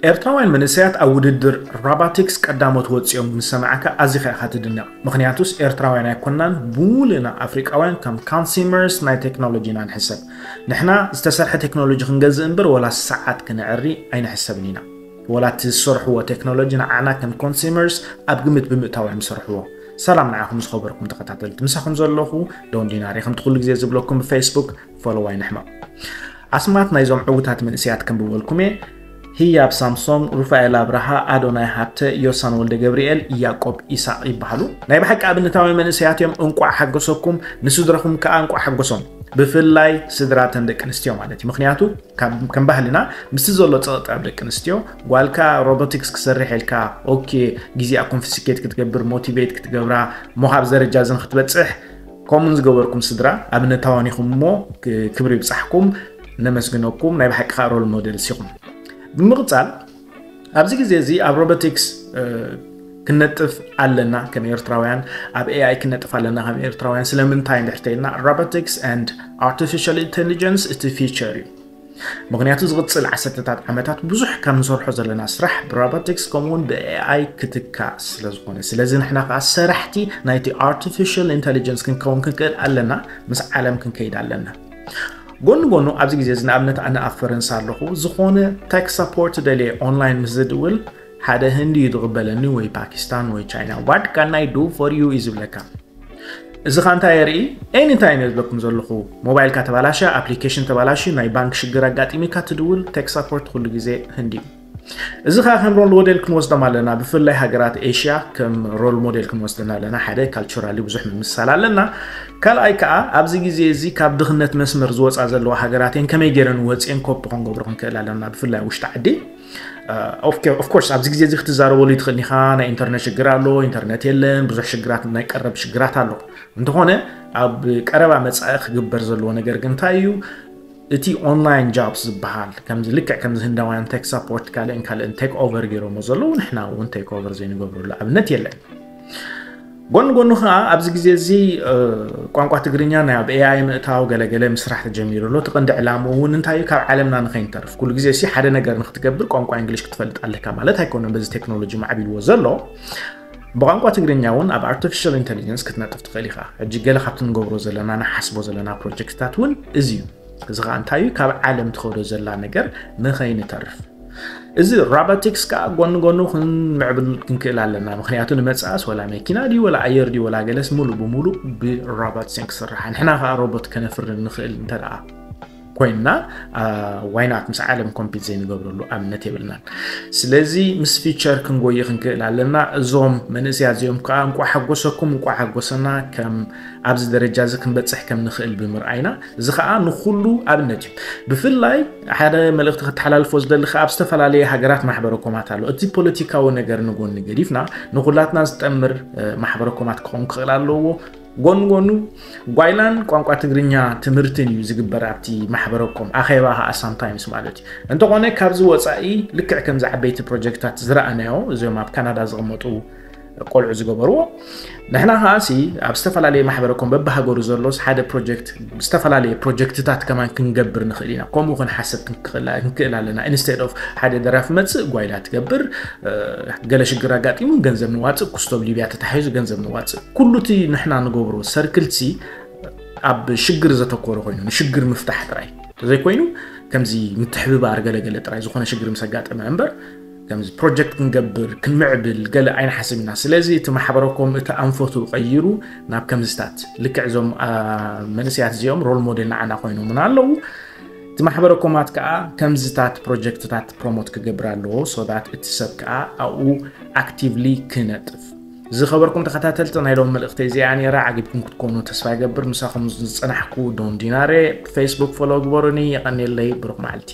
ኤርትራውያን መንእሰያት ኣብ ውድድር ሮቦቲክስ ቀዳሞት ወፂኦም ምስ ሰማዕካ ኣዚኻ ኢኻ ትድነቕ። ምኽንያቱስ ኤርትራውያን ኣይኮናን፣ ብሙሉእና ኣፍሪቃውያን ከም consumers ናይ ቴክኖሎጂ ኢና ንሕሰብ። ንሕና ዝተሰርሐ ቴክኖሎጂ ክንገዝእ እምበር ወላ ሰዓት ክነዕሪ ኣይንሕሰብን ኢና። ወላ እቲ ዝሰርሕዎ ቴክኖሎጂ ንዓና ከም consumers ኣብ ግምት ብምእታው እዮም ዝሰርሕዎ። ሰላም ንዓኹም ዝኸበርኩም ተኸታተልቲ፣ ምሳኹም ዘለኹ ዶን ዲናሪ። ከምቲ ኩሉ ግዜ ዝብለኩም ብፌስቡክ ፎሎው ኣይንሕመቕ። ኣስማት ናይዞም ዕዉታት መንእሰያት ከንብበልኩም እየ። ህያብ ሳምሶም፣ ሩፋኤል ኣብርሃ፣ ኣዶናይ ሃብተ፣ ዮሳን ወልደ ገብርኤል፣ ያቆብ ኢሳቕ ይበሃሉ። ናይ ብሓቂ ኣብነታውያን መንእሰያት እዮም። እንቋዕ ሓጎሰኩም፣ ንስድራኹም ከኣ እንቋዕ ሓጎሶም። ብፍላይ ስድራተን ደቂ ኣንስትዮ ማለት እዩ። ምኽንያቱ ካብ ከም ባህልና ምስቲ ዘሎ ጸቕጢ ኣብ ደቂ ኣንስትዮ፣ ጓልካ ሮቦቲክስ ክሰርሕ ኢልካ ኦኬ፣ ግዜኣ ኮንፊስኬት ክትገብር፣ ሞቲቬት ክትገብራ፣ እሞ ካብ ደረጃ እዚ ንክትበጽሕ ከምኡን ዝገበርኩም ስድራ ኣብነታውያን ኢኹም እሞ ክ- ክብሪ ይብጻሕኩም፣ ነመስግነኩም። ናይ ብሓቂ ከዓ ሮል ሞዴልስ ኢኹም። ብምቕጻል ኣብዚ ግዜ እዚ ኣብ ሮቦቲክስ እ፣ ክነጥፍ ኣለና ከም ኤርትራውያን፣ ኣብ ኤኣይ ክነጥፍ ኣለና ከም ኤርትራውያን። ስለምንታይ እንድሕር ተይልና፣ robotics and artificial intelligence እቲ ፊቸር እዩ። ምኽንያቱ ዝቕጽል ዓሰርተታት ዓመታት ብዙሕ ካብ ንሰርሖ ዘለና ስራሕ ብሮቦቲክስ ከምኡውን ብኤኣይ ክትካእ ስለ ዝኾነ፣ ስለዚ ንሕና ከዓ ሰራሕቲ ናይቲ ኣርቲፊሻል ኢንተሊጀንስ ክንከውን ክንክእል ኣለና። ምስ ዓለም ክንከይድ ኣለና። ጎኒ ጎኑ ኣብዚ ግዜ እዚ ንኣብነት ኣነ ኣብ ፈረንሳ ኣለኹ፣ ዝኾነ ቴክ ሰፖርት ደልየ ኦንላይን ምስ ዝድውል ሓደ ህንዲ እዩ ዝቕበለኒ፣ ወይ ፓኪስታን ወይ ቻይና። What can I do for you እዩ ዝብለካ። እዚ ኻ እንታይ የርኢ? ኤኒታይም እየ ዝብለኩም ዘለኹ። ሞባይልካ ተባላሸ፣ ኣፕሊኬሽን ተባላሽ፣ ናይ ባንክ ሽግር ኣጋጢሚካ ትድውል፣ ቴክ ሰፖርት ኩሉ ግዜ ህንዲ እዩ። እዚ ኸዓ ከም ሮል ሞዴል ክንወስዶም ኣለና። ብፍላይ ሃገራት ኤሽያ ከም ሮል ሞዴል ክንወስደን ኣለና። ሓደ ካልቸራሊ ብዙሕ ምምሳል ኣለና። ካልኣይ ከዓ ኣብዚ ግዜ እዚ ካብ ድኽነት መስመር ዝወፃ ዘለዋ ሃገራት እየን። ከመይ ገይረን ወፅየን ኮፒ ክንገብሮ ክንክእል ኣለና፣ ብፍላይ ውሽጢ ዓዲ። ኦፍኮርስ ኣብዚ ግዜ እዚ ክትዛረበሉ ይትኽእል ኢኻ። ናይ ኢንተርነት ሽግር ኣሎ፣ ኢንተርነት የለን፣ ብዙሕ ሽግራት፣ ናይ ቀረብ ሽግራት ኣሎ። እንተኾነ ኣብ ቀረባ መጻኢ ክግበር ዘለዎ ነገር ግን እንታይ እዩ? እቲ ኦንላይን ጃብስ ዝበሃል ከምዚ ልክዕ ከምዚ ህንዳውያን ቴክ ሳፖርት ካልእን ካልእን ቴክ ኦቨር ገይሮሞ ዘለዉ፣ ንሕና እውን ቴክ ኦቨር ዘይንገብረሉ ኣብነት የለን። ጎኒ ጎኑ ከዓ ኣብዚ ግዜ እዚ እ፣ ቋንቋ ትግርኛ ናይ ኣብ ኤኣይ ምእታው ገለገለ ምስራሕ ተጀሚሩ ኣሎ። እቲ ቀንዲ ዕላምኡ እውን እንታይ እዩ? ካብ ዓለምና ንኸይንተርፍ። ኩሉ ግዜ ሲ ሓደ ነገር ንክትገብር ቋንቋ እንግሊሽ ክትፈልጥ ኣለካ ማለት ኣይኮነን። በዚ ቴክኖሎጂ ማዕቢልዎ ዘሎ ብቋንቋ ትግርኛ እውን ኣብ ኣርቲፊሻል ኢንተሊጀንስ ክትነጥፍ ትኽእል ኢኻ። ሕጂ ገለ ካብቲ ንገብሮ ዘለና ንሓስቦ ዘለና ፕሮጀክትታት እውን እዚ እዩ። እዚ ከዓ እንታይ እዩ? ካብ ዓለም ትኸዶ ዘላ ነገር ንኸይንተርፍ። እዚ ሮቦቲክስ ከዓ ጎኒ ጎኑ ክንምዕብል ክንክእል ኣለና። ምክንያቱ ንመፅኣስ ወላ መኪና ድዩ ወላ ኣየር ድዩ ወላ ገለስ ሙሉ ብሙሉ ብሮቦትስ እየን ክስርሓ። ንሕና ከዓ ሮቦት ከነፍሪ ንኽእል እንተ ደኣ ኮይንና ዋይናት ምስ ዓለም ኮምፒት ዘይንገብረሉ ኣብነት የብልናን። ስለዚ ምስ ፊቸር ክንጎይ ክንክእል ኣለና። እዞም መንእሰያት እዚኦም ከዓ እንቋዕ ሓጎሰኩም እንቋዕ ሓጎሰና፣ ከም ኣብዚ ደረጃ እዚ ክንበፅሕ ከም ንኽእል ብምርኣይና። እዚ ከዓ ንኩሉ ኣብነት እዩ። ብፍላይ ሓደ መልእኽቲ ከተሓላልፎ ዝደሊ ከዓ ኣብ ዝተፈላለየ ሃገራት ማሕበረ ኮማት ኣሎ። እቲ ፖለቲካዊ ነገር ንጎኒ ገዲፍና ንኩላትና ዝጠምር እ፣ ማሕበረ ኮማት ክኸውን ክኽእል ኣለዎ። ጎን ጎኑ ጓይላን ቋንቋ ትግርኛ ትምህርትን እዩ ዝግበር ኣብቲ ማሕበረ ኮም። ኣኼባ ከዓ ሳምታይምስ ማለት እዩ። እንተኾነ ካብዚ ወፃኢ ልክዕ ከምዚ ዓበይቲ ፕሮጀክትታት ዝረኣናዮ እዚኦም ኣብ ካናዳ ዝቕመጡ ቆልዑ ዝገበርዎ፣ ንሕና ከዓ ሲ ኣብ ዝተፈላለየ ማሕበረ ኮም በብሃገሩ ዘሎስ ሓደ ፕሮጀክት ዝተፈላለየ ፕሮጀክትታት ከማን ክንገብር ንኽእል ኢና። ከምኡ ክንሓሰብ ክንክእል ኣለና። ኢንስቴድ ኦፍ ሓደ ደራፊ መፅእ ጓይላ ትገብር፣ እ፣ ገለ ሽግር ኣጋጢሙ ገንዘብ ንዋፅእ፣ ኩስቶ ኣብ ሊብያ ተታሒዙ ገንዘብ ንዋፅእ። ኩሉ እቲ ንሕና ንገብሮ ሰርክል ሲ ኣብ ሽግር ዘተኮረ ኮይኑ ንሽግር ምፍታሕ ጥራይ ተዘይኮይኑ ከምዚ ምትሕብባር ገለገለ ጥራይ ዝኾነ ሽግር ምስ ኣጋጠመ እምበር ከምዚ ፕሮጀክት ክንገብር ክንምዕብል ገለ ኣይንሓስብ ኢና። ስለዚ እቲ ማሕበረ ኮም እቲ ኣንፈቱ ቀይሩ ናብ ከምዝታት ልክዕ እዞም አ፣ መንእሰያት እዚኦም ሮል ሞዴል ንዓና ኮይኖምና ኣለዉ። እቲ ማሕበረ ኮማት ከዓ ከምዝታት ፕሮጀክትታት ፕሮሞት ክገብር ኣለዎ። So that እቲ ሰብ ከዓ ኣብኡ ኣክቲቭሊ ክነጥፍ። ዝኸበርኩም ተኸታተልቲ ናይ ሎም መልእኽቲ እዚኣ ነይራ። ዓጊብኩም ክትኮኑ ተስፋ ይገብር። ምሳኹም ዝጸናሕኩ ዶን ዲናሬ። ፌስቡክ ፎሎ ግበሩኒ። የቐንየለይ። ብሩኽ መዓልቲ።